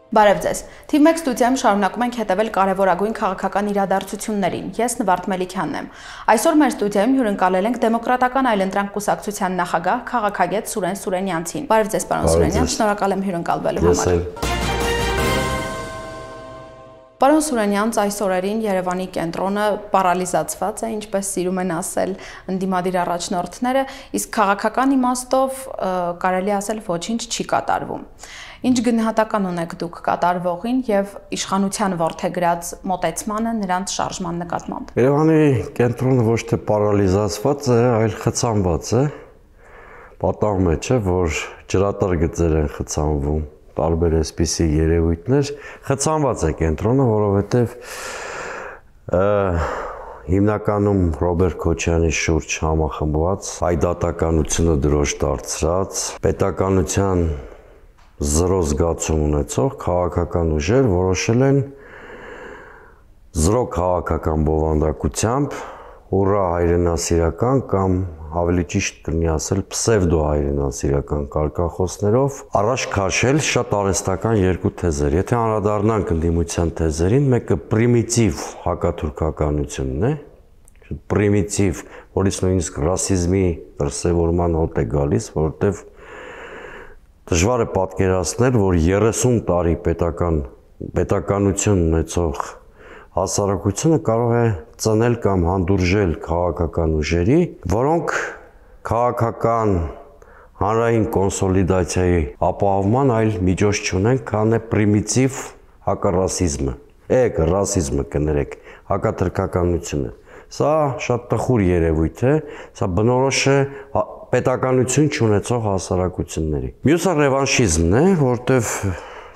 Բարև ձեզ։ Թիվ 1 ստուդիայում շարունակում ենք հետևել կարևորագույն քաղաքական իրադարձություններին։ Ես Նվարդ Մելիքյանն եմ։ Այսօր մեր ստուդիայում հյուրընկալել ենք Դեմոկրատական այլընտրանք կուսակցության նախագահ քաղաքագետ Սուրեն Սուրենյանցին։ Բարև ձեզ, պարոն Սուրենյան, շնորհակալ եմ հյուրընկալվելու համար։ Պարոն Սուրենյան, այս օրերին Երևանի կենտրոնը պարալիզացված է, ինչպես սիրում են ասել ընդդիմադիր առաջնորդները, իսկ քաղաքական իմաստով կարելի ասել ոչինչ չի կատարվում։ Ինչ գնահատական ունեք դուք կատարվողին եւ իշխանության որդեգրած մոտեցմանը նրանց շարժման նկատմամբ։ Երևանի կենտրոնը ոչ թե պարալիզացված է, այլ խցանված է։ Պատահում է, չէ, որ ջրատար գծեր են խցանվում, տարբեր այսպիսի երևույթներ, խցանված է կենտրոնը, որովհետեւ հիմնականում Ռոբերտ Քոչյանի շուրջ համախմբված, հայդատականությունը դրոշ դարձրած, պետականության զրո զգացում ունեցող քաղաքական ուժեր որոշել են զրո քաղաքական բովանդակությամբ ուռա հայրենասիրական կամ ավելի ճիշտ կլինի ասել պսևդո հայրենասիրական կարգախոսներով առաջ քաշել շատ արհեստական երկու թեզեր։ Եթե անդրադառնանք ընդդիմության թեզերին, մեկը պրիմիտիվ հակաթուրքականությունն է, պրիմիտիվ, որից նույնիսկ ռասիզմի դրսևորման հոտ է գալիս, որովհետև դժվար է պատկերացնել, որ 30 տարի պետականություն ունեցող հասարակությունը կարող է ծնել կամ հանդուրժել քաղաքական ուժերի, որոնք քաղաքական հանրային կոնսոլիդացիայի ապահովման այլ միջոց չունեն, քան է պրիմիտիվ հակառասիզմը, ռասիզմը կներեք, հակաթրքականությունը։ Սա շատ տխուր երևույթ է, սա բնորոշ է պետականություն չունեցող հասարակությունների։ Մյուսը ռևանշիզմն է, որտեվ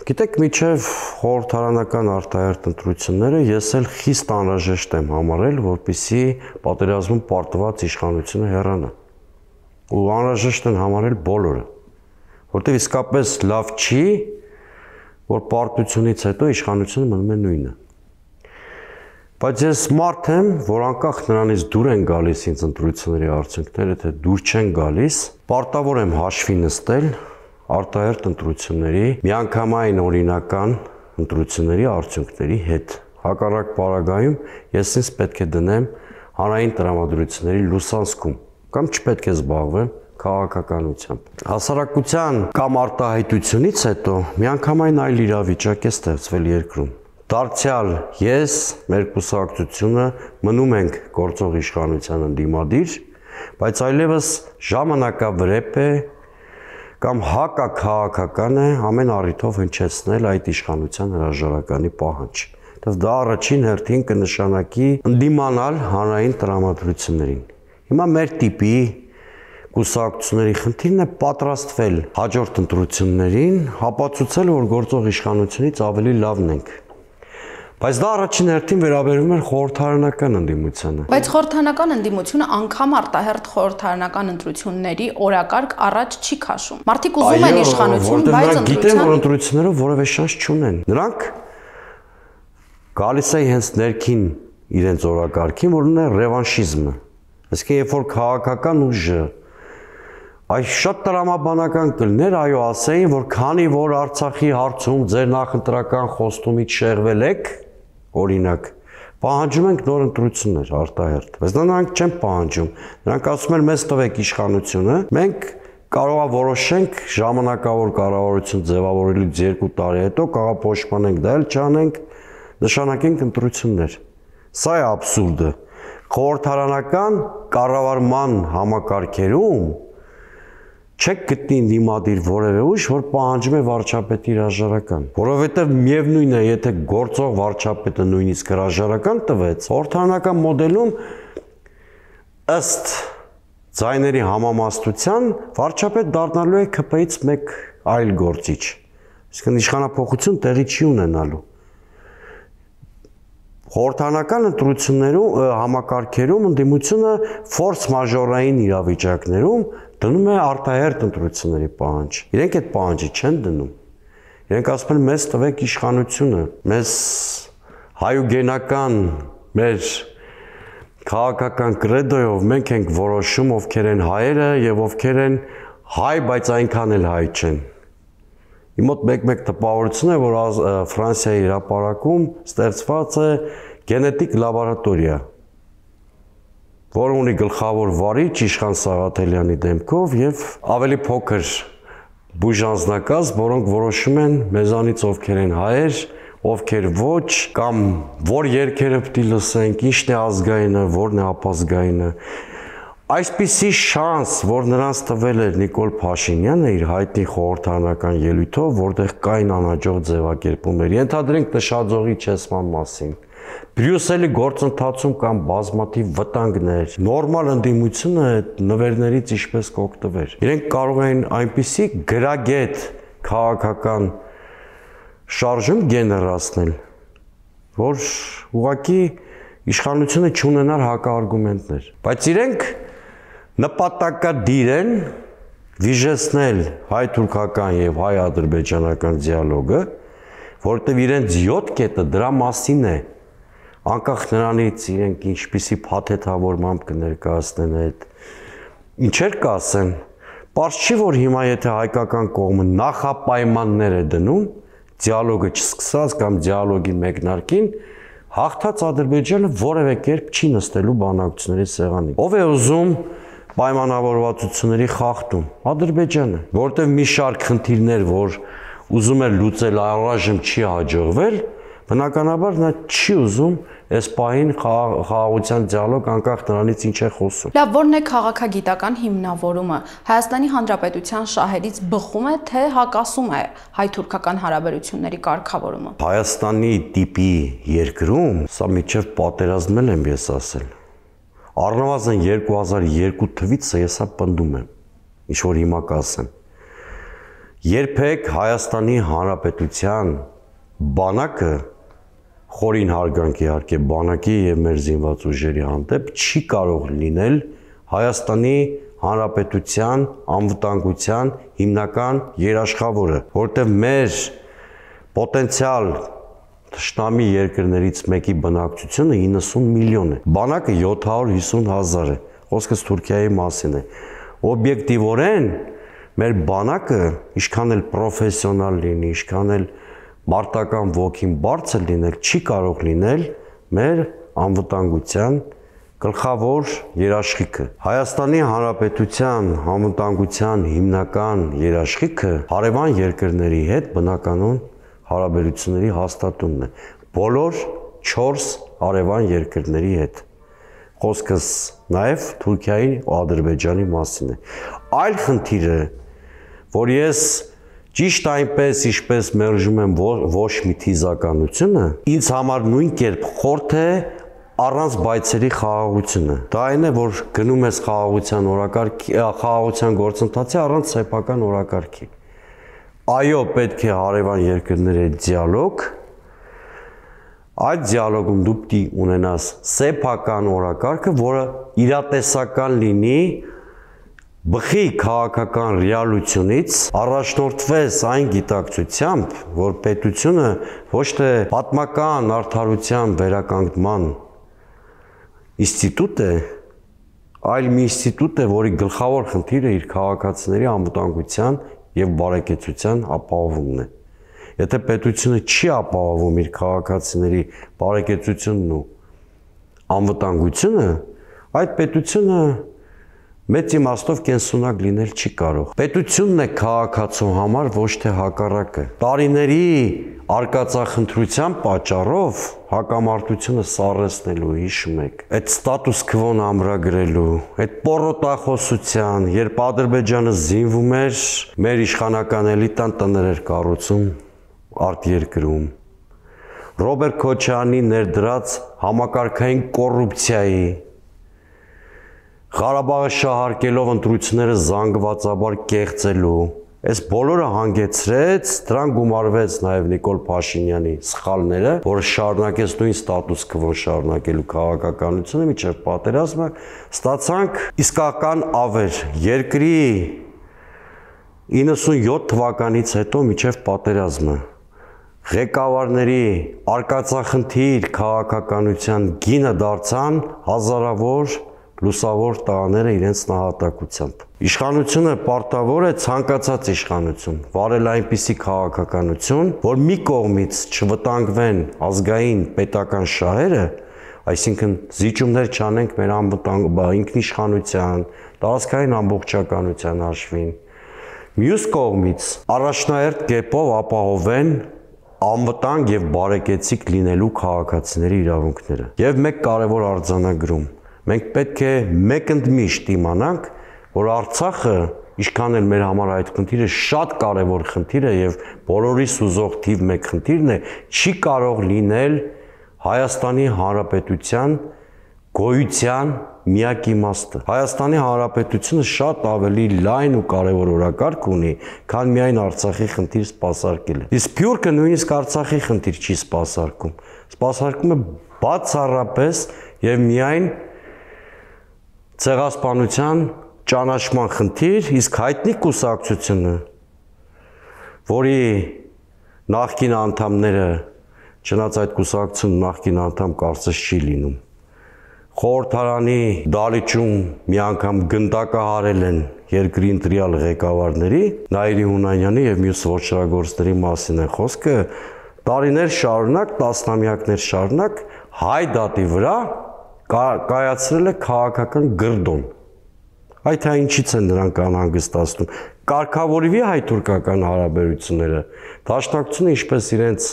գիտեք, միջև խորհրդարանական արտահերթ ընտրությունները ես էլ խիստ անհրաժեշտ եմ համարել, որպեսզի պատերազմում պարտված իշխանությունը հեռանա։ Ու անհրաժեշտ են համարել բոլորը, որտեվ իսկապես լավ չի, որ պարտությունից հետո իշխանությունը մնում է նույնը։ Բայց ես մարդ եմ, որ անկախ նրանից դուր են գալիս ինձ ընտրությունների արդյունքները, թե դուր չեն գալիս, պարտավոր եմ հաշվի նստել արտահերթ ընտրությունների, միանգամայն օրինական ընտրությունների արդյունքների հետ։ Հակառակ պարագայում ես ինձ պետք է դնեմ հանրային տրամադրությունների լուսանցքում կամ չպետք է զբաղվեմ քաղաքականությամբ։ Հասարակության կամ արտահայտությունից հետո միանգամայն այլ իրավիճակ է ստեղծվել երկրում։ Դարձյալ ես, մեր կուսակցությունը մնում ենք գործող իշխանության ընդդիմադիր, բայց այլևս ժամանակավրեպ է կամ հակաքաղաքական է ամեն առիթով հնչեցնել այդ իշխանության հրաժարականի պահանջ։ Դա առաջին հերթին կնշանակի ընդդիմանալ հանրային տրամադրություններին։ Հիմա մեր տիպի կուսակցությունների խնդիրն է պատրաստվել հաջորդ ընտրություններին, ապացուցել, որ գործող իշխանությունից ավելի լավն ենք։ Բայց դա առաջին հերթին վերաբերում է խորհրդարանական ընդդիմությանը։ Բայց խորհրդարանական ընդդիմությունը անգամ արտահերթ խորհրդարանական ընտրությունների օրակարգ առաջ չի քաշում։ Մարդիկ ուզում են իշխանություն, բայց գիտեն, որ ընտրություններով որևէ շանս չունեն։ Նրանք գալիս է հենց ներքին իրենց օրակարգին, որն է ռևանշիզմը։ Այսինքն, երբ որ քաղաքական ուժը այս շատ տրամաբանական կլներ, այո, ասեին, որ քանի որ Արցախի հարցում ձեր նախընտրական խոստումից շեղվել եք, օրինակ, պահանջում ենք նոր ընտրություններ արտահերթ։ Բայց նրանք չեն պահանջում։ Նրանք ասում են մեզ տվեք իշխանությունը, մենք կարող է որոշենք ժամանակավոր կառավարություն ձևավորելուց 2 տարի հետո կաղապաշտպանենք, դա էլ չանենք, նշանակենք ընտրություններ։ Սա է աբսուրդը։ Խորհրդարանական կառավարման համակարգերում չեք գտնի դիմադիր որևէ ուժ, որ պահանջում է վարչապետի հրաժարական, որովհետև միևնույն է, եթե գործող վարչապետը նույնիսկ հրաժարական տվեց, խորհրդարանական մոդելում ըստ ձայների համամասնության վարչապետ դառնալու է ՔՊ-ից մեկ այլ գործիչ, այսինքն իշխանափոխություն տեղի չի ունենալու։ Խորհրդարանական ընտրություններում համակարգերում ընդդիմությունը ֆորս մաժորային իրավիճակներում դնում է արտահերթ ընտրությունների պահանջ։ Իրենք այդ պահանջը չեն դնում։ Իրենք ասում են մեզ տվեք իշխանությունը, մեզ հայուգենական մեր քաղաքական կրեդոյով մենք ենք որոշում ովքեր են հայերը եւ ովքեր են հայ, բայց այնքան էլ հայ չեն։ Իմ մոտ մեկ տպավորություն է, որ Ֆրանսիայի հրապարակում ստեղծված է գենետիկ լաբորատորիա, որը ունի գլխավոր վարիչ Իշխան Սաղաթելյանի դեմքով եւ ավելի փոքր բուժանձնակազմ, որոնք որոշում են մեզանից ովքեր են հայեր, ովքեր ոչ, կամ որ երգերը պիտի լսենք, ինչն է ազգայինը, որն է ապազգայինը։ Այսպիսի շանս, որ նրանց տվել էր Նիկոլ Փաշինյանը իր հայտնի խորհրդարանական ելույթով, որտեղ կային անհաջող ձևակերպումներ, ենթադրենք նշաձողի չեսման մասին, Բրյուսելի գործընթացում կան բազմաթիվ վտանգներ, նորմալ ընդդիմությունը այդ նվերներից ինչպես կօգտվեր։ Իրենք կարող էին այնպիսի գրագետ քաղաքական շարժում գեներացնել, որ ուղղակի իշխանությունը չունենար հակաարգումենտներ, բայց իրենք նպատակադիր են վիժեցնել հայ-թուրքական եւ հայ-ադրբեջանական դիալոգը, որտեղ իրենց 7 կետը դրա մասին է, անկախ նրանից իրենք ինչպիսի փաթեթավորմամբ կներկայացնեն այդ ինչեր կասեն, պարզ չի, որ հիմա եթե հայկական կողմը նախապայմաններ է դնում դիալոգը չսկսած կամ դիալոգի մեկնարկին, հաղթած Ադրբեջանը որևէ կերպ չի նստելու բանակցությունների սեղանին։ Ով է ուզում պայմանավորվածությունների խախտում? Ադրբեջանը, որտեղ մի շարք խնդիրներ, որ ուզում էր լուծել, առայժմ չի հաջողվել, բնականաբար նա չի ուզում այս պահին խաղաղության դիալոգ, անկախ նրանից ինչ է խոսում։ Լավ, որն է քաղաքագիտական հիմնավորումը? Հայաստանի Հանրապետության շահերից բխում է, թե հակասում է հայ-թուրքական հարաբերությունների կարգավորումը։ Հայաստանի տիպի երկրում, սա միջև պատերազմել եմ ես ասել, առնվազն 2002 թվից ես սա պնդում եմ, ինչ որ հիմա կասեմ։ Երբեք Հայաստանի Հանրապետության բանակը, խորին հարգանք իհարկե բանակի եւ մեր զինված ուժերի հանդեպ, չի կարող լինել Հայաստանի Հանրապետության անվտանգության հիմնական երաշխավորը, որտեղ մեր պոտենցիալ թշնամի երկրներից մեկի բնակչությունը 90 միլիոն է, բանակը 750,000 է, խոսքս Թուրքիայի մասին է։ Օբյեկտիվորեն մեր բանակը ինչքան էլ պրոֆեսիոնալ լինի, ինչքան էլ մարտական ոգին բարձր լինել, չի կարող լինել մեր անվտանգության գլխավոր երաշխիքը։ Հայաստանի Հանրապետության անվտանգության հիմնական երաշխիքը հարևան երկրների հետ բնականon հարաբերությունների հաստատումն է, բոլոր 4 հարևան երկրների հետ։ Խոսքս նաև Թուրքիայի ու Ադրբեջանի մասին է։ Այլ խնդիրը, որ ես ճիշտ այնպես, ինչպես մերժում եմ ոչ մի թիզականությունը, ինձ համար նույն կերպ խորթ է առանց բայցերի խաղաղությունը։ Դա այն է, որ գնում ես խաղաղության օրակարգի, խաղաղության գործընթացի առանց սեփական օրակարգի։ Այո, պետք է հարևան երկրների հետ դիալոգ, այդ դիալոգում դու պիտի ունենաս սեփական օրակարգը, որը իրատեսական լինի բխի քաղաքական ռեալությունից, առաջնորդվես այն գիտակցությամբ, որ պետությունը ոչ թե պատմական արդարության վերականգնման ինստիտուտ է, այլ մի ինստիտուտ է, որի գլխավոր խնդիրը իր քաղաքացիների անվտանգության եւ բարեկեցության ապահովումն է։ Եթե պետությունը չի ապահովում իր քաղաքացիների բարեկեցությունն ու անվտանգությունը, այդ պետությունը մեծ իմաստով կենսունակ լինել չի կարող։ Պետությունն է քաղաքացու համար, ոչ թե հակառակը։ Տարիների արկածախնդրության պատճառով հակամարտությունը սառեցնելու, հիշում եք, այդ ստատուս քվոն ամրագրելու, այդ պոռոտախոսության, երբ Ադրբեջանը զինվում էր, մեր իշխանական էլիտան տներ էր կառուցում արտերկրում։ Ռոբերտ Քոչարյանի ներդրած համակարգային կոռուպցիայի, Ղարաբաղը շահարկելով ընտրությունները զանգվածաբար կեղծելու, այս բոլորը հանգեցրեց, դրան գումարվեց նաև Նիկոլ Փաշինյանի սխալները, որը շարունակեց նույն ստատուս քվոն շարունակելու քաղաքականությունը մինչև պատերազմը, ստացանք իսկական ավեր երկրի 97 թվականից հետո մինչև պատերազմը։ Ղեկավարների արկածախնդիր քաղաքականության գինը դարձան հազարավոր լուսավոր տղաները իրենց նահատակությամբ։ Իշխանությունը պարտավոր է ցանկացած իշխանություն վարել այնպիսի քաղաքականություն, որ մի կողմից չվտանգվեն ազգային պետական շահերը, այսինքն զիջումներ չանենք մեր ինքնիշխանության, տարածքային ամբողջականության հաշվին, մյուս կողմից առաջնահերթ կերպով ապահովեն անվտանգ եւ բարեկեցիկ լինելու քաղաքացիների իրավունքները։ Եվ մեկ կարևոր արձանագրում. մենք պետք է մեկընդմիշտ իմանանք, որ Արցախը, ինչքան էլ մեր համար այդ խնդիրը շատ կարևոր խնդիր է եւ բոլորի սուզող թիվ 1 խնդիրն է, չի կարող լինել Հայաստանի Հանրապետության գոյության միակ իմաստը։ Հայաստանի Հանրապետությունը շատ ավելի լայն ու կարևոր օրակարգ ունի, քան միայն Արցախի խնդիր սպասարկելը։ Իսկ Սփյուռքը նույնիսկ Արցախի խնդիր չի սպասարկում։ Սպասարկում է բացառապես եւ միայն ցեղասպանության ճանաչման խնդիր, իսկ հայտնի կուսակցությունը, որի նախկին անդամները, չնայած այդ կուսակցությունը նախկին անդամ կարծես չի լինում, խորհրդարանի դալիճում մի անգամ գնդակահարել են երկրի ընտրյալ ղեկավարների, Նայիրի Հունանյանի եւ մյուս ոչռագործների մասին է խոսքը, տարիներ շարունակ, տասնամյակներ շարունակ հայ դատի վրա կայացրել է քաղաքական գրդոն։ Այդ հա ինչից են նրանք անհանգստացնում։ Կարգավորվի հայ-թուրքական հարաբերությունները, դաշնակցությունը ինչպես իրենց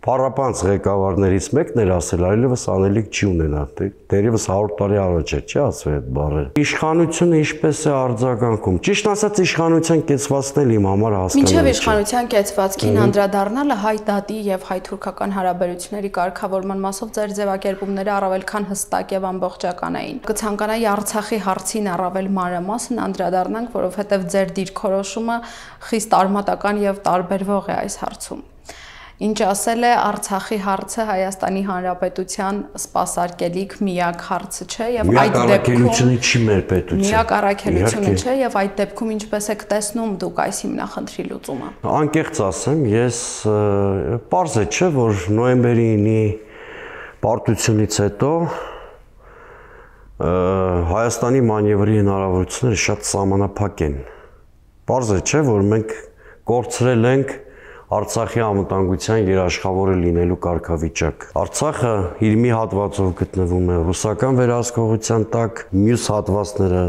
փառապանց ղեկավարներից մեկն էր ասել, այլևս անելիք չի ունենա, դերևս 100 տարի առաջ էր, չի ասվել այդ բառերը։ Իշխանությունը ինչպես է արձագանքում։ Ճիշտ ասած, իշխանության կեցվածքն էլ իմ համար հասկանալի չէ։ Մինչև իշխանության կեցվածքին անդրադառնալը հայ դատի եւ հայ-թուրքական հարաբերությունների կարգավորման մասով ձեր ձևակերպումները առավել քան հստակ եւ ամբողջական էին։ Կցանկանայի Արցախի հարցին առավել մանրամասն անդրադառնանք, որովհետեւ ձեր դիրքորոշումը խիստ արմատական եւ տարբերվող է այս հարցում։ Ինչ ասել է Արցախի հարցը Հայաստանի Հանրապետության սպասարկելիք միակ հարցը չէ եւ այդ դեպքում չի մեր պետության։ Միակ առաքելությունը չէ եւ այդ դեպքում ինչպես եք տեսնում դուք այս հիմնախնդրի լուծումը։ Անկեղծ ասեմ, ես պարզ է չէ, որ նոյեմբերի 9-ի պարտությունից հետո Հայաստանի մանևրի հնարավորությունները շատ սահմանափակ են։ Պարզ է չէ, որ մենք կորցրել ենք Արցախի անվտանգության երաշխավորը լինելու կարգավիճակ։ Արցախը իր մի հատվածով գտնվում է ռուսական վերահսկողության տակ, մյուս հատվածները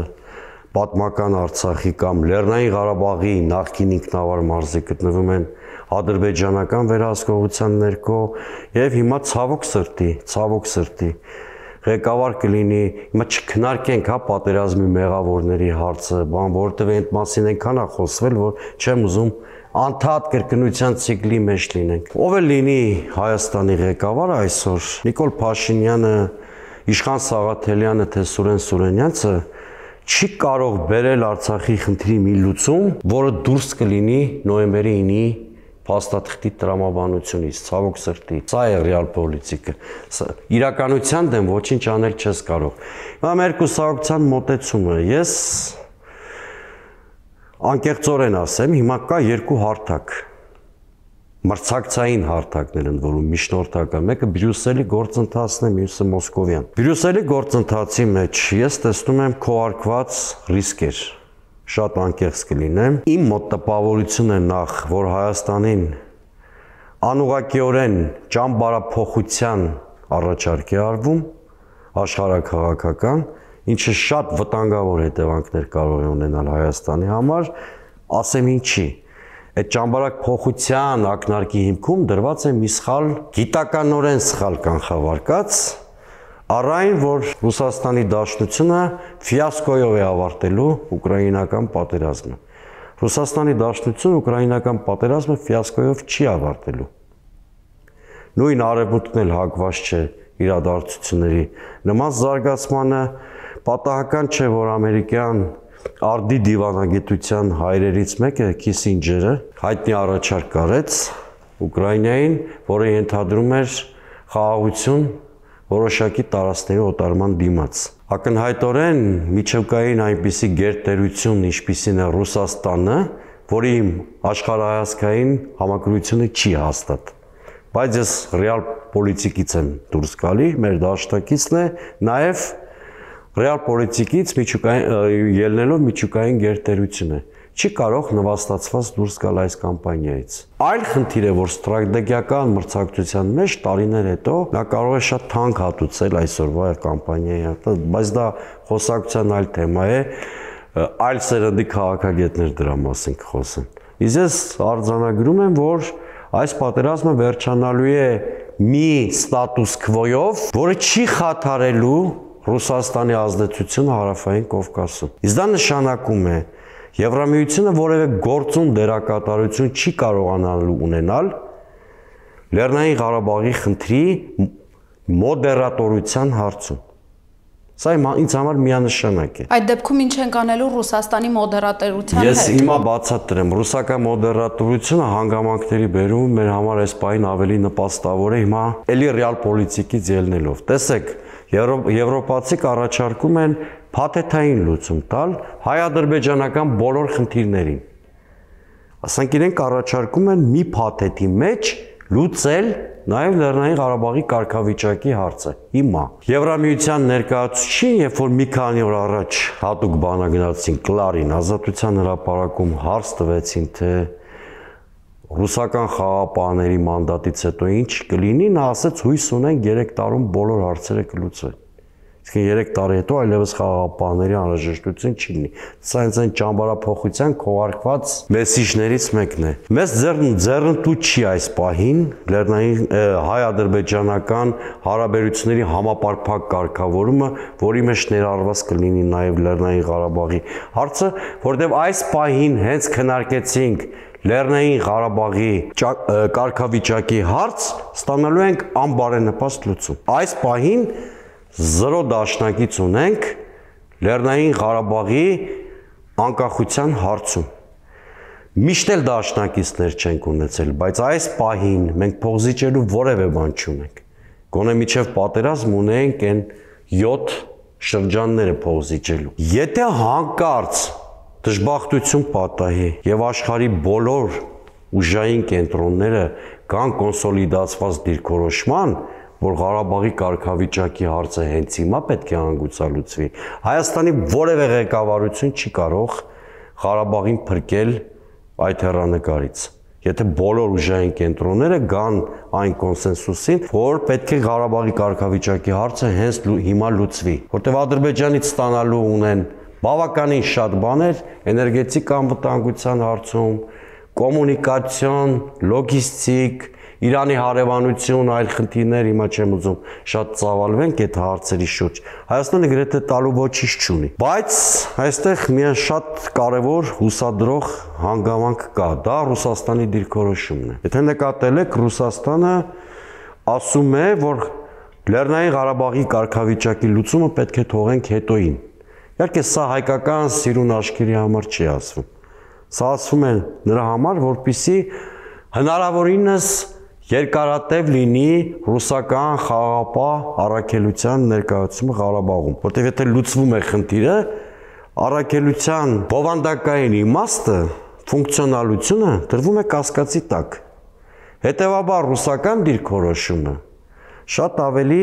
պատմական Արցախի կամ Լեռնային Ղարաբաղի նախկին ինքնավար մարզի գտնվում են ադրբեջանական վերահսկողության ներքո եւ հիմա ցավոք սրտի ղեկավար կլինի, հիմա չքննարկենք հա պատերազմի մեղավորների հարցը, որովհետեւ այդ մասին այնքան է խոսվել, որ չեմ ուզում անդադ կրկնության ցիկլի մեջ լինենք։ Ով է լինի Հայաստանի ղեկավարը այսօր, Նիկոլ Փաշինյանը, Իշխան Սաղաթելյանը, թե Սուրեն Սուրենյանցը չի կարող բերել Արցախի խնդրի մի լուծում, որը դուրս կլինի նոյեմբերի 9-ի փաստաթղթի տրամաբանությունից, ցավոք սրտի։ Սա է ռեալ պոլիտիկը։ Իրականության դեմ ոչինչ անել չես կարող։ Հիմա մեր կուսակցության մոտեցումը, ես անկեղծորեն ասեմ, հիմա կա երկու հարթակ, մրցակցային հարթակներ են որում միջնորդական, մեկը Բրյուսելի գործընթացն է, մյուսը Մոսկովյան։ Բրյուսելի գործընթացի մեջ ես տեսնում եմ քողարկված ռիսկեր, շատ անկեղծ կլինեմ։ Իմ մոտ տպավորություն է նախ, որ Հայաստանին անուղղակիորեն ճամբարափոխության առաջարկ է արվում, աշխարհաքաղաքական, ինչը շատ վտանգավոր հետևանքներ կարող է ունենալ Հայաստանի համար, ասեմ ինչի։ Այդ ճամբարակ փոխության ակնարկի հիմքում դրված է մի սխալ, գիտականորեն սխալ կանխավարկած, առայն որ Ռուսաստանի Դաշնությունը ֆիասկոյով է ավարտելու ուկրաինական պատերազմը։ Ռուսաստանի Դաշնությունը ուկրաինական պատերազմը ֆիասկոյով չի ավարտելու։ Նույն արևմուտքն էլ հակված չէ իրադարձությունների նման զարգացմանը, պատահական չէ, որ ամերիկյան արդի դիվանագիտության հայրերից մեկը Քիսինջերը հայտնի առաջարկ արեց Ուկրաինային, որը ենթադրում էր խաղաղություն որոշակի տարածքների օտարման դիմաց։ Ակնհայտորեն միջուկային այնպիսի գերտերություն, ինչպիսին է Ռուսաստանը, որի աշխարհայացքային համակրությունը չի հաստատ։ Բայց ես ռեալ պոլիտիկից եմ դուրս գալի, մեր դաշնակիցն է, նաև ռեալ պոլիտիկից ելնելով միջուկային գերտերություն է։ Չի կարող նվաստացված դուրս գալ այս կամպանիայից։ Այլ խնդիր է, որ ստրատեգիական մրցակցության մեջ տարիներ հետո նա կարող է շատ թանկ հատուցել այսօրվա կամպանիայի, բայց դա խոսակցության այլ թեմա է, այլ սերնդի քաղաքագետներ դրա մասին կխոսեն։ Իսկ ես արձանագրում եմ, որ այս պատերազմը վերջանալու է մի ստատուս քվոյով, որը չի խաթարելու Ռուսաստանի ազդեցությունը Հարավային Կովկասում։ Իսկ դա նշանակում է, Եվրամիությունը որևէ գործուն դերակատարություն չի կարողանալու ունենալ Լեռնային Ղարաբաղի խնդրի մոդերատորության հարցում։ Սա ինձ համար միանշանակ է։ Այդ դեպքում ինչ ենք անելու Ռուսաստանի մոդերատորության հետ։ Ես հիմա բացատրեմ, ռուսական մոդերատորությունը հանգամանքների բերում մեր համար այս պահին ավելի նպաստավոր է հիմա էլի ռեալ պոլիտիկից ելնելով։ Տեսեք, եվրոպացիք առաջարկում են փաթեթային լուծում տալ հայ-ադրբեջանական բոլոր խնդիրներին։ Ասենք իրենք առաջարկում են մի փաթեթի մեջ լուծել նաև Լեռնային Ղարաբաղի կարգավիճակի հարցը։ Հիմա Եվրամիության ներկայացուցիչին, երբ որ մի քանի օր առաջ հատուկ բանագնացին Կլարին Ազատության հրապարակում հարց տվեցին, թե ռուսական խաղաղապահների մանդատից հետո ինչ կլինի, նա ասաց հույս ունեն 3 տարում բոլոր հարցերը կլուծվեն։ Իսկ 3 տարի հետո այլևս խաղաղապահների անհրաժեշտություն չի լինի։ Սա այն ճամբարափոխության քողարկված մեսիջներից մեկն է։ Մեզ ձեռնտու չի այս պահին Լեռնային հայ-ադրբեջանական հարաբերությունների համապարփակ կարգավորումը, որի մեջ ներառված կլինի նաև Լեռնային Ղարաբաղի հարցը, որտեղ այս պահին հենց քննարկեցինք Լեռնային Ղարաբաղի կարգավիճակի հարց, ստանալու ենք անբարենպաստ լուծում։ Այս պահին 0 դաշնակից ունենք Լեռնային Ղարաբաղի անկախության հարցում։ Միշտ էլ դաշնակիցներ չենք ունեցել, բայց այս պահին մենք փոխզիջելու որևէ բան չունենք։ Գոնե միջև պատերազմ ունենք այն 7 շրջանները փոխզիջելու։ Եթե հանկարծ դժբախտություն պատահի եւ աշխարհի բոլոր ուժային կենտրոնները կան կոնսոլիդացված դիրքորոշման, որ Ղարաբաղի կարգավիճակի հարցը հենց հիմա պետք է անգուցալուծվի, Հայաստանի որևէ ղեկավարություն չի կարող Ղարաբաղին փրկել այդ հեռանկարից։ Եթե բոլոր ուժային կենտրոնները գան այն կոնսենսուսին, որ պետք է Ղարաբաղի կարգավիճակի հարցը հենց հիմա լուծվի, որտեղ Ադրբեջանից ստանալու ունեն բավականին շատ բաներ էներգետիկ անվտանգության հարցում, կոմունիկացիոն, լոգիստիկ, Իրանի հարևանություն, այլ խնդիրներ, հիմա չեմ ուզում շատ ծավալվենք այդ հարցերի շուրջ։ Հայաստանը գրեթե տալու ոչինչ չունի։ Բայց այստեղ միայն շատ կարևոր հուսադրող հանգամանք կա, դա Ռուսաստանի դիրքորոշումն է։ Եթե նկատել եք, Ռուսաստանը ասում է, որ Լեռնային Ղարաբաղի կարգավիճակի լուծումը պետք է թողենք հետոին։ Իհարկե սա հայկական սիրուն աչքերի համար չի ասվում։ Սա ասվում է նրա համար, որպեսզի հնարավորինս երկարատև լինի ռուսական խաղաղապահ առաքելության ներկայացումը Ղարաբաղում, որտեղ եթե լուծվում է խնդիրը, առաքելության բովանդակային իմաստը, ֆունկցիոնալությունը դրվում է կասկածի տակ։ Հետևաբար ռուսական դիրքորոշումը շատ ավելի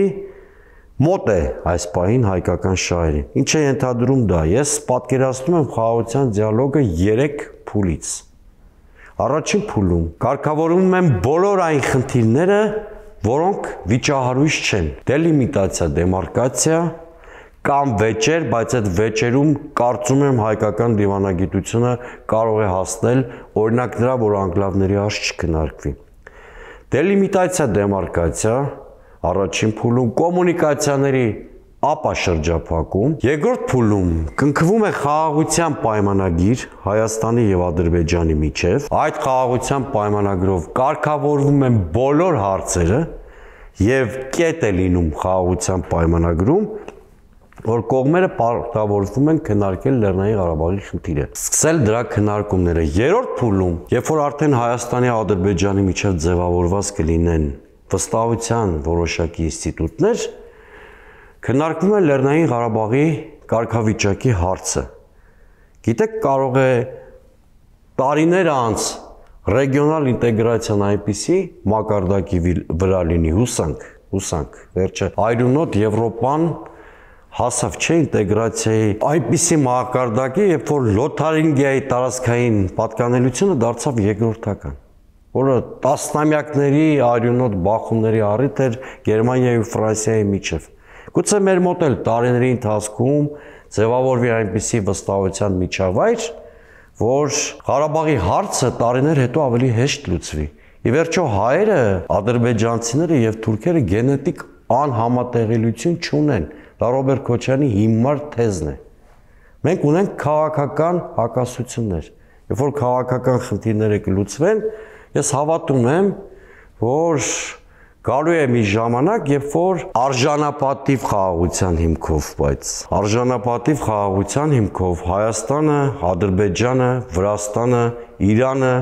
մոտ է այս պահին հայկական շահերին։ Ինչ է ենթադրում դա։ Ես պատկերացնում եմ խաղաղության դիալոգը 3 փուլից։ Առաջին փուլում կարգավորվում են բոլոր այն խնդիրները, որոնք վիճահարույց չեն։ Դելիմիտացիա, դեմարկացիա կամ վեճեր, բայց այդ վեճերում կարծում եմ հայկական դիվանագիտությունը կարող է հասնել օրինակ դրա, որ անկլավների հարց չքննարկվի։ Դելիմիտացիա, դեմարկացիա առաջին փուլում, կոմունիկացիաների ապաշրջափակում, երկրորդ փուլում կնքվում է խաղաղության պայմանագիր Հայաստանի եւ Ադրբեջանի միջև, այդ խաղաղության պայմանագրով կարգավորվում են բոլոր հարցերը եւ կետ է լինում խաղաղության պայմանագրում, որ կողմերը պարտավորվում են քննարկել Լեռնային Ղարաբաղի խնդիրը, սկսել դրա քննարկումները։ Երրորդ փուլում, երբ որ արդեն Հայաստանի եւ Ադրբեջանի միջև ձևավորված կլինեն վստահության որոշակի ինստիտուտներ, քննարկվում է Լեռնային Ղարաբաղի կարգավիճակի հարցը։ Գիտեք, կարող է տարիներ անց ռեգիոնալ ինտեգրացիան այնպիսի մակարդակի վրա լինի, հուսանք, վերջը այրունոտ Եվրոպան հասավ չէ ինտեգրացիայի այնպիսի մակարդակի, երբ որ Լոթարինգիայի տարածքային պատկանելությունը դարձավ երկրորդական, որը տասնամյակների արյունոտ բախումների առիթ էր Գերմանիայի ու Ֆրանսիայի միջև։ Գուցե մեր մոտ էլ տարիների ընթացքում ձևավորվի այնպիսի վստահության միջավայր, որ Ղարաբաղի հարցը տարիներ հետո ավելի հեշտ լուծվի։ Ի վերջո հայերը, ադրբեջանցիները եւ թուրքերը գենետիկ անհամատեղելիություն չունեն։ Դա Ռոբերտ Քոչարյանի հիմար թեզն է։ Մենք ունենք քաղաքական հակասություններ։ Երբ որ քաղաքական խնդիրները կլուծվեն, ես հավատում եմ, որ գալու է մի ժամանակ, երբ որ արժանապատիվ խաղաղության հիմքով, բայց արժանապատիվ խաղաղության հիմքով Հայաստանը, Ադրբեջանը, Վրաստանը, Իրանը,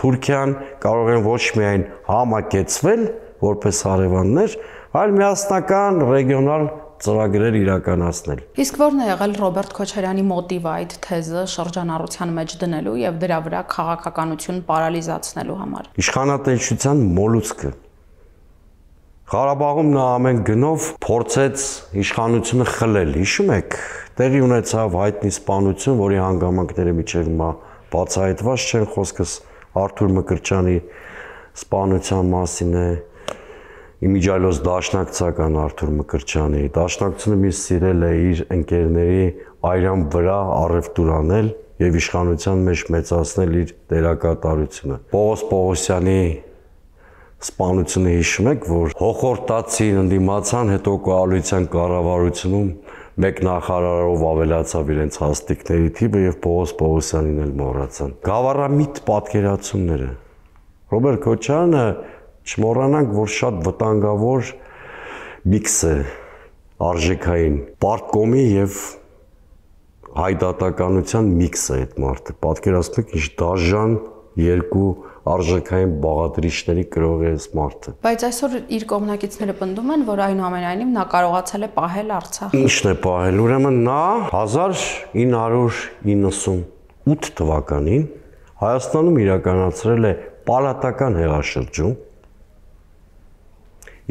Թուրքիան կարող են ոչ միայն համակեցվել որպես հարևաններ, այլ միասնական ռեգիոնալ ծրագրեր իրականացնել։ Իսկ ո՞րն է եղել Ռոբերտ Քոչարյանի մոտիվը այդ թեզը շրջանառության մեջ դնելու եւ դրա վրա քաղաքականություն պարալիզացնելու համար։ Իշխանատենչության մոլուցքը։ Ղարաբաղում նա ամեն գնով փորձեց իշխանությունը խլել։ Հիշում եք, տեղի ունեցավ հայտնի սպանություն, որի հանգամանքները միջև հիմա բացահայտված չեն, խոսքս Արթուր Մկրտչյանի սպանության մասին է։ Իմիջիալոս դաշնակցական Արթուր Մկրտչյանի դաշնակցությունը մի սիրել է իր ընկերների այրան վրա առևտուր անել եւ իշխանության մեջ մեծացնել իր դերակատարությունը։ Պողոս Պողոսյանի սպանությունը հիշում եք, որ հոխորտացին ընդդիմացան, հետո կոալիցիան կառավարությունում մեկ նախարարով ավելացավ իրենց հաստիկների թիվը եւ Պողոս Պողոսյանին էլ մոռացան։ Գավառամիտ պատկերացումները։ Ռոբերտ Քոչարյանը չմոռանանք, որ շատ վտանգավոր միքս է արժեքային պարտկոմի եւ հայդատականության միքս է այդ մարդը։ Պատկերացնում եք ինչ դաժան երկու արժեքային բաղադրիչների կրող է այս մարդը։ Բայց այսօր իր կողմնակիցները պնդում են, որ այնուամենայնիվ նա կարողացել է պահել Արցախը։ Ինչն է պահել։ Ուրեմն նա 1998 թվականին Հայաստանում իրականացրել է պալատական հեղաշրջում,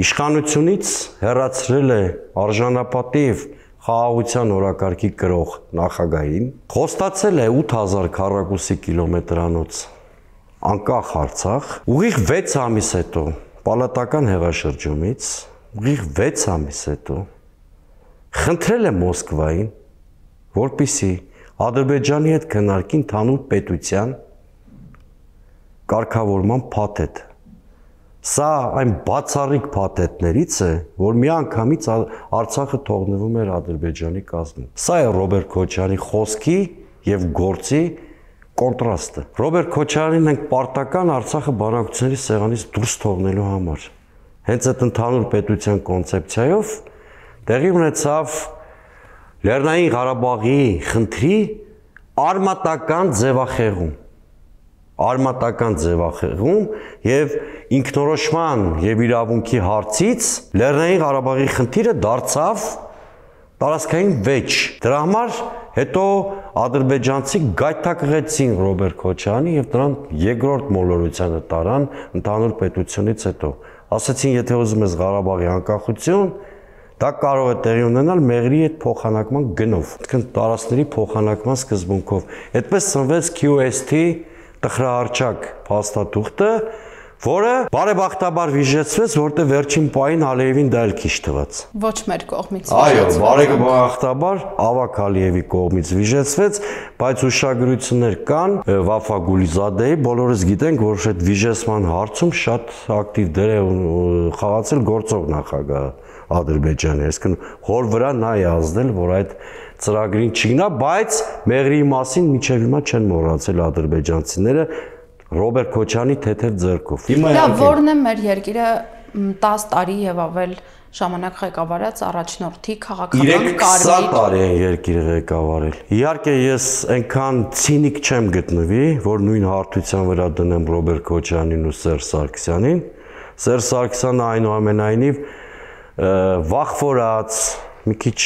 իշխանությունից հեռացրել է արժանապատիվ խաղաղության օրակարգի կրող նախագահին, խոստացել է 8000 քառակուսի կիլոմետրանոց անկախ Արցախ, ուղիղ 6 ամիս հետո պալատական հեղաշրջումից, ուղիղ 6 ամիս հետո խնդրել է Մոսկվային, որպեսզի Ադրբեջանի հետ քննարկի ընդհանուր պետության կարգավորման փաթեթ։ Սա այն բացառիկ փաթեթներից է, որ միանգամից Արցախը թողնվում էր Ադրբեջանի կազմում։ Սա է Ռոբերտ Քոչարյանի խոսքի եւ գործի կոնտրաստը։ Ռոբերտ Քոչարյանին ենք պարտական Արցախը բանակցությունների սեղանից դուրս թողնելու համար։ Հենց այդ ընդհանուր պետության կոնցեպցիայով տեղի ունեցավ Լեռնային Ղարաբաղի խնդրի արմատական ձևախեղում եւ ինքնորոշման եւ իրավունքի հարցից Լեռնային Ղարաբաղի խնդիրը դարձավ տարածքային վեճ։ Դրա համար հետո ադրբեջանցի գայթակղեցին Ռոբերտ Քոչարյանի եւ նրան երկրորդ մոլորությանը տարան ընդհանուր պետությունից հետո։ Ասացին, եթե ուզում ես Ղարաբաղի անկախություն, դա կարող է տեղի ունենալ մեղրի հետ փոխանակման գնով, այսինքն տարածքների փոխանակման սկզբունքով։ Այդպես ծնվեց QST տխրահարճակ փաստաթուղթը, որը բարեբախտաբար վիժեցվեց, որտեղ վերջին պահին Ալիևին դա էլ քիչ թվաց։ Ոչ մեր կողմից։ Այո, բարեբախտաբար Ավակ Ալիևի կողմից վիժեցվեց, բայց ուշագրություններ կան Վաֆա Գուլիզադեի, բոլորս գիտենք, որ այդ վիժեցման հարցում շատ ակտիվ դեր է խաղացել գործող նախագահ Ադրբեջանի, այսինքն հոր վրա նա է ազդել, որ այդ ծրագրին չգնա, բայց մեղրի մասին մինչև հիմա չեն մոռացել ադրբեջանցիները Ռոբերտ Քոչարյանի թեթև ձեռքով։ Դա որն է մեր երկիրը 10 տարի եւ ավել ժամանակ ղեկավարած առաջնորդի քաղաքական կարիեր։ 20 տարի են երկիրը ղեկավարել։ Իհարկե ես այնքան ցինիկ չեմ գտնվի, որ նույն հարթության վրա դնեմ Ռոբերտ Քոչարյանին ու Սերժ Սարգսյանին։ Սերժ Սարգսյանը այնուամենայնիվ վախվորած, մի քիչ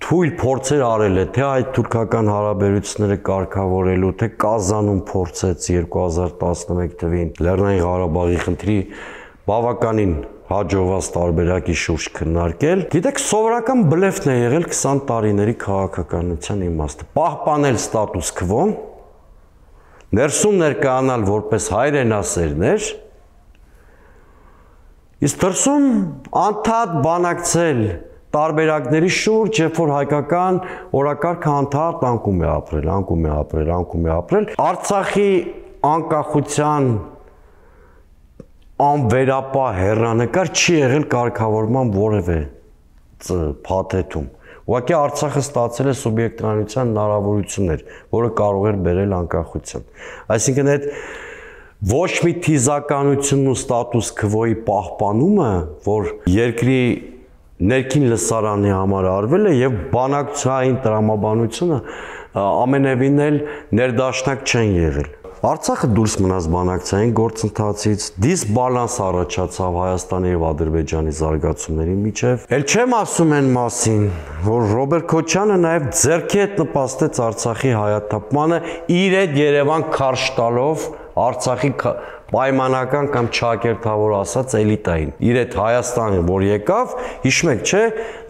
թույլ փորձեր արել է, թե այդ թուրքական հարաբերությունները կարգավորելու, թե Կազանում փորձեց 2011 թվականին Լեռնային Ղարաբաղի խնդրի բավականին հաջողված տարբերակի շուրջ քննարկել։ Գիտեք, սովորական բլեֆն է եղել 20 տարիների քաղաքականության իմաստը։ Պահպանել ստատուս քվոն, ներսում ներկայանալ որպես հայրենասերներ, իսկ դրսում անդադ բանակցել տարբերակների շուրջ, երբ որ հայկական օրակարգը անդադ անկում է ապրել, Արցախի անկախության անվերապահ հեռանկար չի եղել կարգավորման որևէ փաթեթում։ Ուղղակի Արցախը ստացել է սուբյեկտիվության հնարավորություններ, որը կարող էր բերել անկախության։ Այսինքն այդ ոչ մի թիզականությունն ու ստատուս քվոյի պահպանումը, որ երկրի ներքին լսարանի համար արվել է եւ բանակցային տրամաբանությունը ամենևին էլ ներդաշնակ չեն եղել։ Արցախը դուրս մնաց բանակցային գործընթացից, դիսբալանս առաջացավ Հայաստանի եւ Ադրբեջանի զարգացումների միջև։ Էլ չեմ ասում այն մասին, որ Ռոբերտ Քոչյանը նաեւ ձեռքի հետ նպաստեց Արցախի հայաթափմանը իր այդ Երևան քարշ տալով Արցախի պայմանական կամ ճակերտավոր ասած էլիտային։ Իր այդ Հայաստանը, որ եկավ, հիշում եք, չէ,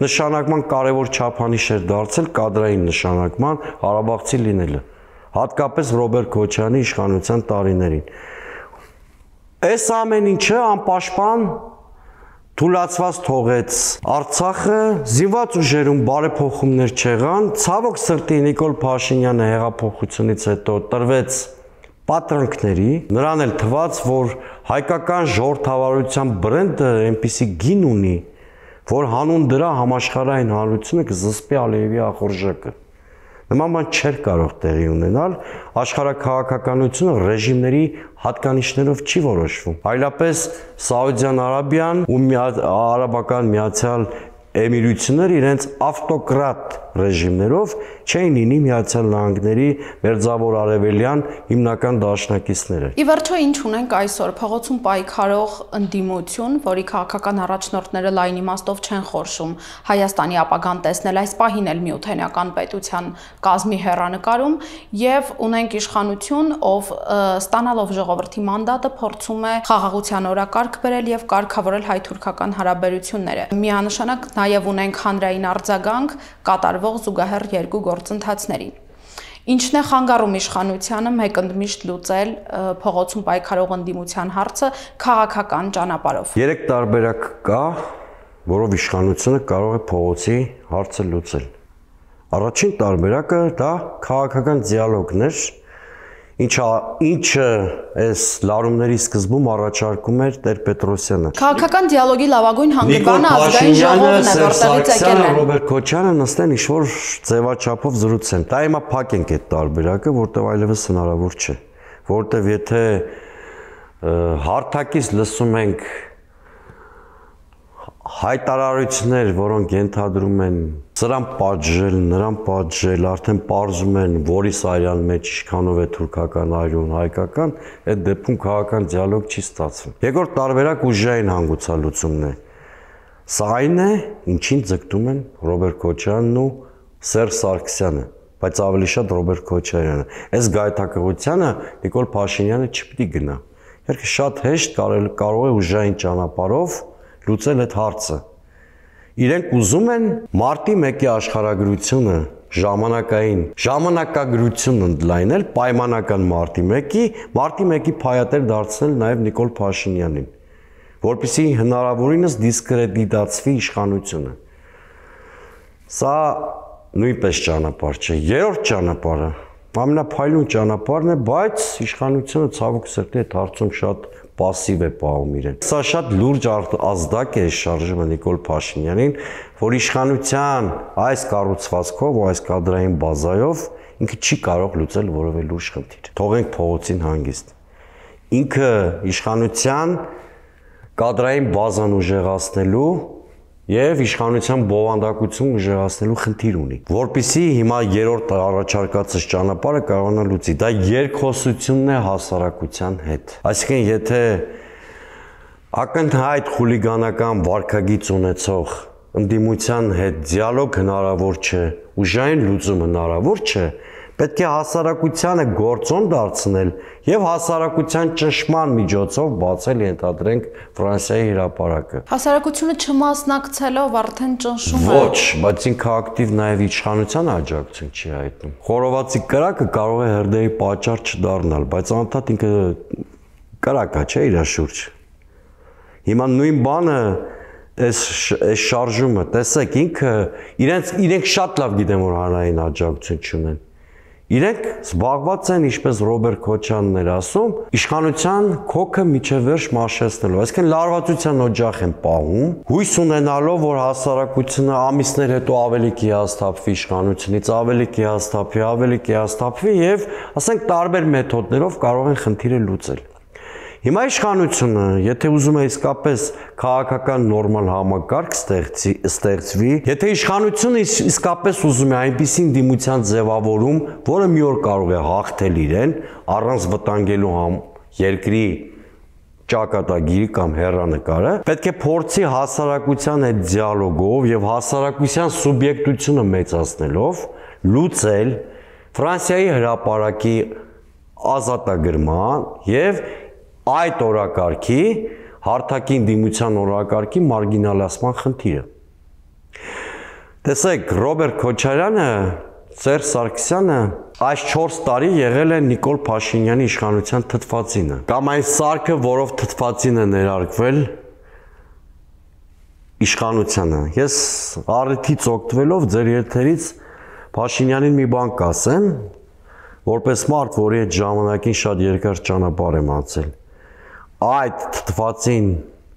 նշանակման կարևոր չափանիշ էր դարձել կադրային նշանակման Ղարաբաղցի լինելը։ Հատկապես Ռոբերտ Քոչյանի իշխանության տարիներին։ Այս ամեն ինչը անպաշտպան թուլացված թողեց Արցախը, զինված ուժերում բարեփոխումներ չեղան, ցավոք սրտի Նիկոլ Փաշինյանը հեղափոխությունից հետո տրվեց պատրանքների, նրան էլ թվաց, որ հայկական ժողովրդավարության բրենդը այնպիսի գին ունի, որ հանուն դրա համաշխարհային հանրությունը կզսպի Ալիևի ախորժակը։ Նման բան չէր կարող տեղի ունենալ, աշխարհաքաղաքականությունը ռեժիմների հատկանիշներով չի որոշվում, այլապես Սաուդյան Արաբիան ու Արաբական Միացյալ Էմիրությունները իրենց ավտոկրատ ռեժիմներով չէին լինի Միացյալ Նահանգների մերձավոր արևելյան հիմնական դաշնակիցները։ Ի վերջո ինչ ունենք այսօր, փողոցում պայքարող ընդդիմություն, որի քաղաքական առաջնորդները լայն իմաստով չեն խորշում Հայաստանի ապագան տեսնել, այս պահին էլ միութենական պետության կազմի հեռանկարում, եւ ունենք իշխանություն, ով ստանալով ժողովրդի մանդատը փորձում է խաղաղության օրակարգ բերել եւ կարգավորել հայ-թուրքական հարաբերությունները։ Միանշանակ նաեւ ունենք հանրային արձագանք կատարվող զուգահեռ երկու գործընթացներին։ Ինչն է խանգարում իշխանությանը մեկընդմիշտ լուծել փողոցում պայքարող ընդդիմության հարցը քաղաքական ճանապարհով։ Երեք տարբերակ կա, որով իշխանությունը կարող է փողոցի հարցը լուծել։ Առաջին տարբերակը դա քաղաքական դիալոգն էր, ինչը այս լարումների սկզբում առաջարկում էր Տեր Պետրոսյանը։ Քաղաքական դիալոգի լավագույն հանգրվանը ազգային ժողովն է, որտեղից եկել են։ Ռոբերտ Քոչյանը նստեն ինչ-որ ձևաչափով զրուցեն։ Դա հիմա փակենք այդ տարբերակը, որտեղ այլևս հնարավոր չէ։ Որտեղ եթե հարթակից լսում ենք հայտարարություններ, որոնք ենթադրում են սրան պատժել, նրան պատժել, արդեն պարզում են, որի սարյան մեջ ինչքանով է թուրքական այրուն, հայկական, այդ դեպքում քաղաքական դիալոգ չի ստացվում։ Երկրորդ տարբերակ ուժային հանգուցալուծումն է։ Սա այն է, ինչին ձգտում են Ռոբերտ Քոչյանն ու Սերժ Սարգսյանը, բայց ավելի շատ Ռոբերտ Քոչարյանը։ Այս գայթակղությանը Նիկոլ Փաշինյանը չպիտի գնա։ Երկը շատ հեշտ կարող է ուժային ճանապարհով լուծել այդ հարցը։ Իրենք ուզում են մարտի 1-ի աշխարհագրությունը ժամանակագրություն ընդլայնել պայմանական մարտի 1-ի փայատեր դարձնել նաև Նիկոլ Փաշինյանին, որպեսզի հնարավորինս դիսկրեդիտացվի իշխանությունը։ Սա նույնպես ճանապարհ չէ։ Երրորդ ճանապարհը ամենափայլուն ճանապարհն է, բայց իշխանությունը ցավոք սրտի այդ հարցում շատ պասիվ է պահում իրեն։ Սա շատ լուրջ ազդակ է շարժումը Նիկոլ Փաշինյանին, որ իշխանության այս կառուցվածքով ու այս կադրային բազայով ինքը չի կարող լուծել որևէ լուրջ խնդիր։ Թողենք փողոցին հանգիստ։ Ինքը իշխանության կադրային բազան ուժեղացնելու եւ իշխանության բովանդակություն ուժեղացնելու խնդիր ունի, որpիսի հիմա երրորդ առաջարկածս ճանապարհը կարողանա լուծի։ Դա երկխոսությունն է հասարակության հետ։ Այսինքն, եթե ակնհայտ խուլիգանական վարքագիծ ունեցող ընդդիմության հետ դիալոգ հնարավոր չէ, ուժային լուծում հնարավոր չէ, պետք է հասարակությանը գործոն դարձնել եւ հասարակության ճնշման միջոցով բացել ենթադրենք Ֆրանսիայի հրապարակը։ Հասարակությունը չմասնակցելով արդեն ճնշում է։ Ոչ, բայց ինքը ակտիվ նաեւ իշխանության աջակցություն չի հայտնում։ Խորովածի կրակը կարող է հրդեհի պատճառ չդառնալ, բայց անդադ ինքը կրակա չէ իր շուրջ։ Հիմա նույն բանը այս շարժումը, տեսեք, ինքը իրենք շատ լավ գիտեն, որ հանրային աջակցություն չունեն։ Իրենք զբաղված են, ինչպես Ռոբերտ Քոչանն էր ասում, իշխանության քոքը միջև վերջ մաշեցնելով, այսինքն լարվածության օջախ են պահում, հույս ունենալով, որ հասարակությունը ամիսներ հետո ավելի կհիասթափվի իշխանությունից, ավելի կհիասթափվի եւ, ասենք, տարբեր մեթոդներով կարող են խնդիրը լուծել։ Հիմա իշխանությունը, եթե ուզում է իսկապես քաղաքական նորմալ համակարգ ստեղծվի, եթե իշխանությունը իսկապես ուզում է այնպիսին դիմության ձևավորում, որը մի օր կարող է հաղթել իրեն, առանց վտանգելու երկրի ճակատագիրի կամ հեռանկարը, պետք է փորձի հասարակության հետ դիալոգով եւ հասարակության սուբյեկտությունը մեծացնելով լուծել Ֆրանսիայի հրապարակի ազատագրման եւ այդ օրակարգի հարթակին դիմության օրակարգի մարգինալացման խնդիրը։ Տեսեք, Ռոբերտ Քոչարյանը, Սերժ Սարգսյանը այս 4 տարի եղել է Նիկոլ Փաշինյանի իշխանության թթվածինը, կամ այն սարքը, որով թթվածին է ներարկվել իշխանությանը։ Ես առիթից օգտվելով ձեր եթերից Փաշինյանին մի բան կասեմ, որպես մարդ, որի այդ ժամանակին շատ երկար ճանապարհ եմ անցել։ Այդ թթվածին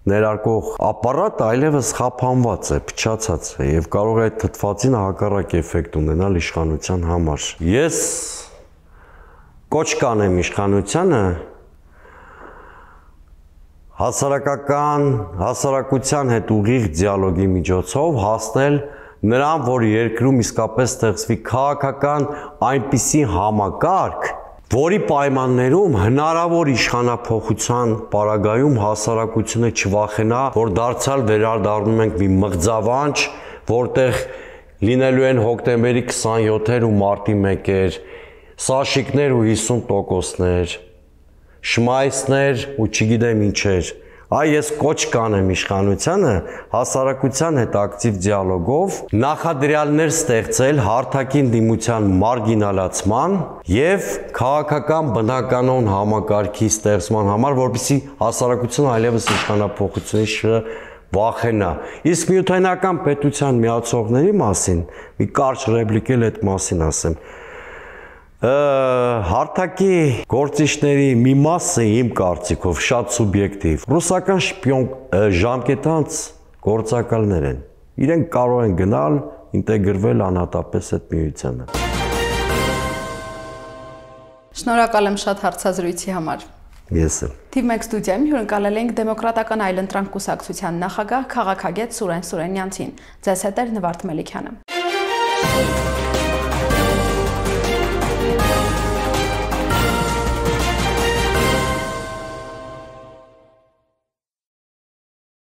ներարկող ապարատը այլևս խափանված է, փչացած է եւ կարող է այդ թթվածինը հակառակ էֆեկտ ունենալ իշխանության համար։ Ես կոչ կանեմ իշխանությանը հասարակության հետ ուղիղ դիալոգի միջոցով հասնել նրան, որ երկրում իսկապես ստեղծվի քաղաքական այնպիսի համակարգ, որի պայմաններում հնարավոր իշխանափոխության պարագայում հասարակությունը չվախենա, որ դարձյալ վերադառնում ենք մի մղձավանջ, որտեղ լինելու են հոկտեմբերի 27-եր ու մարտի 1-եր, սաշիկներ ու 50%-ներ, շմայսներ ու չգիտեմ ինչեր։ Այ ես կոչ կանեմ իշխանությանը հասարակության հետ ակտիվ դիալոգով նախադրյալներ ստեղծել հարթակին դիմության մարգինալացման եւ քաղաքական բնականոն համակարգի ստեղծման համար, որպեսզի հասարակությունը այլևս իշխանափոխությունից չվախենա։ Իսկ միութենական պետության միացողների մասին մի կարճ ռեպլիկ էլ այդ մասին ասեմ։ Հարթակի գործիչների մի մասը իմ կարծիքով շատ սուբյեկտիվ ռուսական շպիոն ժամկետանց գործակալներ են։ Իրենք կարող են գնալ, ինտեգրվել անհատապես այդ միությանը։ Շնորհակալ եմ շատ հարցազրույցի համար։ Ես եմ։ Թիվ 1 ստուդիայում հյուրընկալել ենք Դեմոկրատական այլընտրանք կուսակցության նախագահ քաղաքագետ Սուրեն Սուրենյանցին։ Ձեզ հետ էր Նվարդ Մելիքյանը։